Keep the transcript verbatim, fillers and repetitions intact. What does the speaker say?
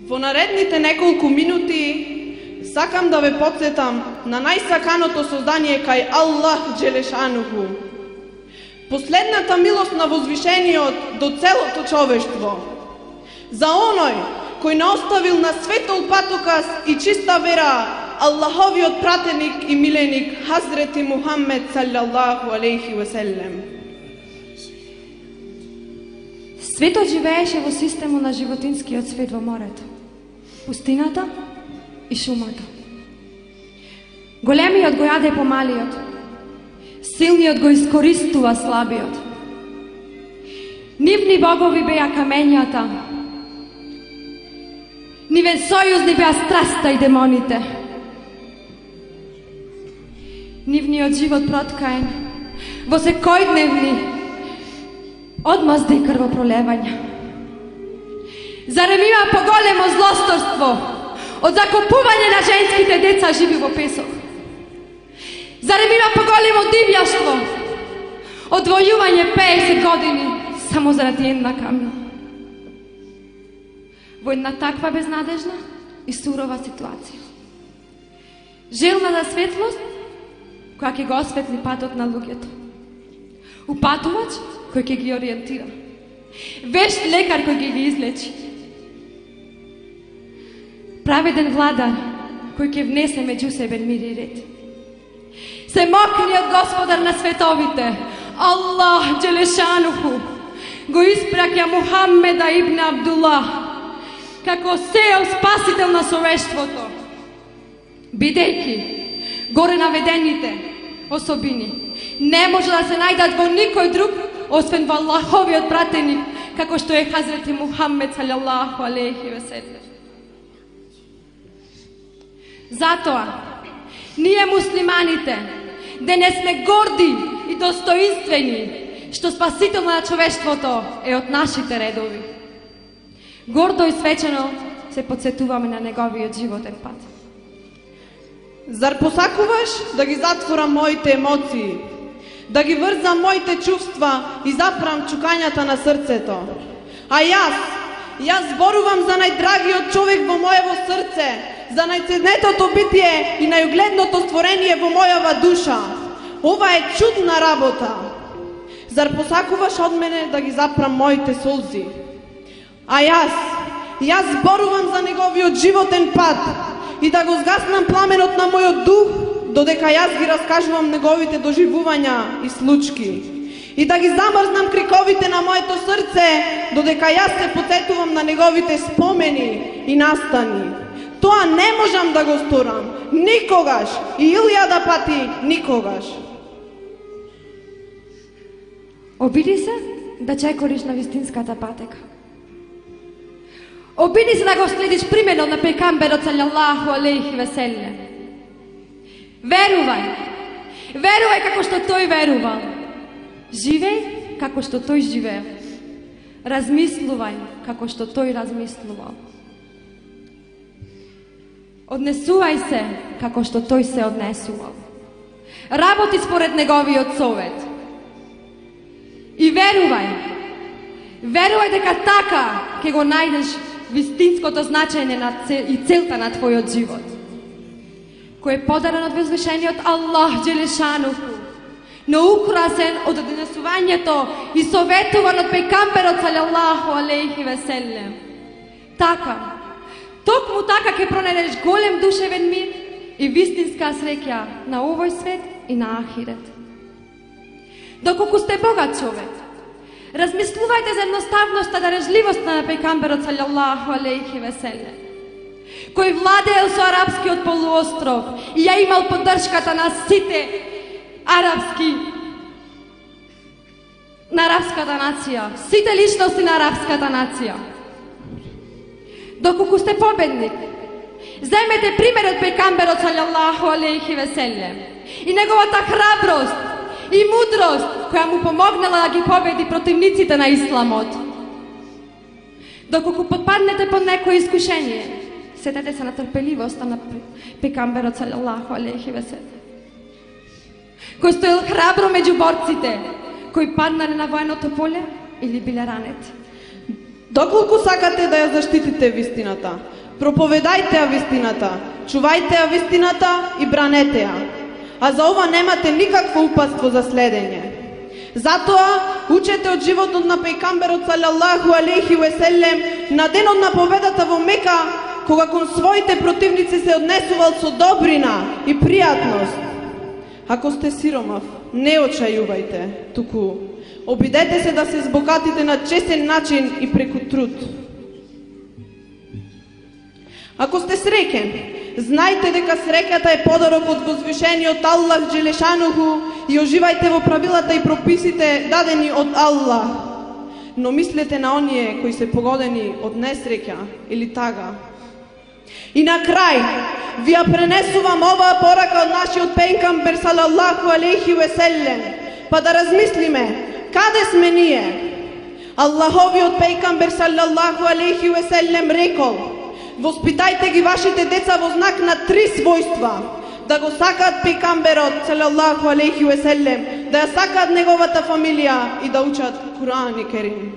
Во наредните неколку минути сакам да ве потсетам на најсаканото создание кај Аллах Джелешануху. Последната милост на возвишениот до целото човештво. За оној кој не оставил на светол патокас и чиста вера Аллаховиот пратеник и миленик Хазрети Мухаммед саллаллаху алейхи ва селем. Светот живееше во систему на животинскиот свет во морето, пустината и шумата. Големиот го јаде помалиот, силниот го искористува слабиот. Нивни богови беа камењата, нивен сојузни беа страста и демоните. Нивниот живот проткаен во секојдневни одмазда и крвопролевања. Зарем има поголемо злосторство од закопување на женските деца живи во песок? Зарем има поголемо дивјаштво од војување песет години само заради една камила? Во една таква безнадежна и сурова ситуација, желна за светлост која ќе го осветли патот на луѓето, упатувач кој ќе ги ориентира, вешт лекар кој ќе ги излечи, праведен владар кој ќе внесе меѓу себе мир и ред. Семокниот Господар на световите, Аллах Джелешануху, го испраќа Мухаммеда ибн Абдуллах како сео спасител на човештвото, бидејќи горе наведените особини не може да се најдат во никој друг освен во Аллаховиот пратеник, како што е Хазрети Мухаммед салаллаху алейхи ва селем. Затоа, ние муслиманите денес сме горди и достоинствени што спасител на човештвото е од нашите редови. Гордо и свечено се потсетуваме на неговиот животен пат. Зар посакуваш да ги затворам моите емоции, да ги врзам моите чувства и запрам чукањата на срцето? А јас, јас зборувам за најдрагиот човек во моево срце, за најценетото битие и најугледното створение во мојава душа. Ова е чудна работа. Зар посакуваш од мене да ги запрам моите солзи? А јас, јас зборувам за неговиот животен пат и да го згаснам пламенот на мојот дух, додека јас ги раскажувам неговите доживувања и случки. И да ги замрзнам криковите на моето срце, додека јас се потсетувам на неговите спомени и настани. Тоа не можам да го сторам, никогаш, и илјада пати никогаш. Обиди се да чекориш на вистинската патека. Обиди се да го следиш применот на пекамберот салаллаху алейхи ва селем. Верувај, верувај како што тој верувал. Живеј како што тој живеел. Размислувај како што тој размислувал. Однесувај се како што тој се однесувал. Работи според неговиот совет. И верувај, верувај дека така ќе го најдеш вистинското значење на цел, и целта на твојот живот, кој е подарен од возвишениот Аллах Джелешануху, но украсен од однесувањето и советуван од пејкамберот салаллаху алейхи ва селем. Така, токму така ќе пронајдеш голем душевен мир и вистинска среќа на овој свет и на ахирет. Доколку сте богат човек, размислувајте за едноставноста, дарежливоста на пејкамберот салаллаху алейхи ва селем, кој владеел со арапскиот полуостров и ја имал поддршката на сите арапски, на арапската нација, сите личности на арапската нација. Доколку сте победник, земете примерот пејкамберот салаллаху алейхи ва селем и неговата храброст и мудрост која му помогнала да ги победи противниците на исламот. Доколку подпаднете под некое искушение, сетете се на трпеливоста на пејкамберот салаллаху алейхи ва селем, кој стоел храбро меѓу борците, кои паднале на военото поле или биле ранети. Доколку сакате да ја заштитите вистината, Проповедајте ја вистината, чувајте ја вистината и бранете ја. А за ова немате никакво упатство за следење. Затоа учете од животот на пејгамберот салаллаху алейхи ве селем на денот на победата во Мека, кога кон своите противници се однесувал со добрина и пријатност. Ако сте сиромав, не очајувајте, туку обидете се да се збогатите на честен начин и преку труд. Ако сте среќен, знајте дека среќата е подарок од возвишениот Аллах Джелешануху и оживајте во правилата и прописите дадени од Аллах. Но мислете на оние кои се погодени од несреќа или тага. И на крај, ви ја пренесувам оваа порака од нашиот пејгамбер салаллаху алейхи ве селем, па да размислиме, каде сме ние? Аллаховиот пејгамбер салаллаху алейхи ве селем рекол: воспитајте ги вашите деца во знак на три својства: да го сакаат пејгамберот салаллаху алейхи ве селем, да ја сакаат неговата фамилија и да учат Куран и Керим.